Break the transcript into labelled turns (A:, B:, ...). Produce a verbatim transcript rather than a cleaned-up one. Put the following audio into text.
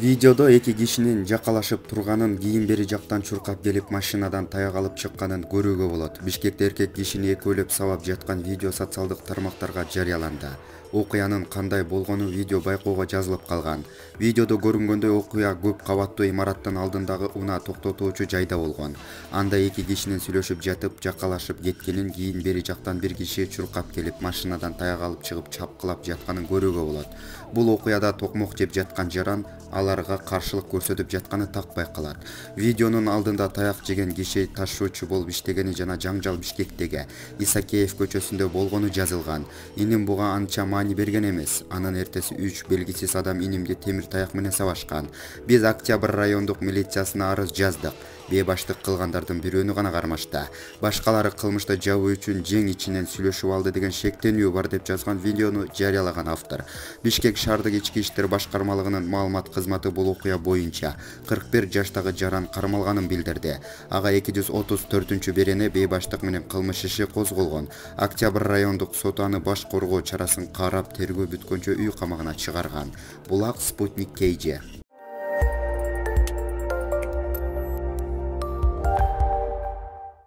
A: Видеодо эки кишинин жакалашып турганын, кийин бери жактан чуркап келип машинадан таяк алып чыкканын көрүүгө болот. Бишкекте эркек кишини экөөлөп сабап жаткан видео социалдык тармактарга жарыяланды. Окуянын кандай болгону видео байкоого жазылып калган. Видеодо көрүнгөндөй окуя көп кабаттуу имараттын алдындагы унаа токтотуучу жайда болгон. Анда эки кишинин сүйлөшүп жатып, жакалашып кеткенин, кийин бери жактан бир киши чуркап келип машинадан таяк алып чыгып чапкылап жатканын көрүүгө болот. Бул окуяда токмок жеп жаткан жаран аларга каршылык көрсөтүп жатканы так байкалат. Видеонун алдында таяк жеген киши ташуучу болуп иштегени жана жаңжал Бишкектеги Исакеев көчөсүндө болгону жазылган. Иним буга анча маани берген эмес. Анын эртеси үч белгисиз адам инимди темир таяк менен сабашкан. Биз Октябрь райондук милициясына арыз жаздык. Бейбаштык кылгандардын бирөөнү гана кармашты. Башкалары кылмышты жабуу үчүн жең ичинен сүйлөшүп алды деген шектенүү бар деп жазган видеону жарыялаган автор. Бишкек шаардык ички иштер башкармалыгынын маалымат кызматы бул окуя боюнча кырк бир жаштагы жаран кармалганын билдирди. Ага эки жүз отуз төртүнчү берене бейбаштык менен кылмыш иши козголгон. Октябрь райондук соту аны баш коргоо чарасын карап, тергөө бүткөнчө үй камагына чыгарган. Булак Спутник Кей Же.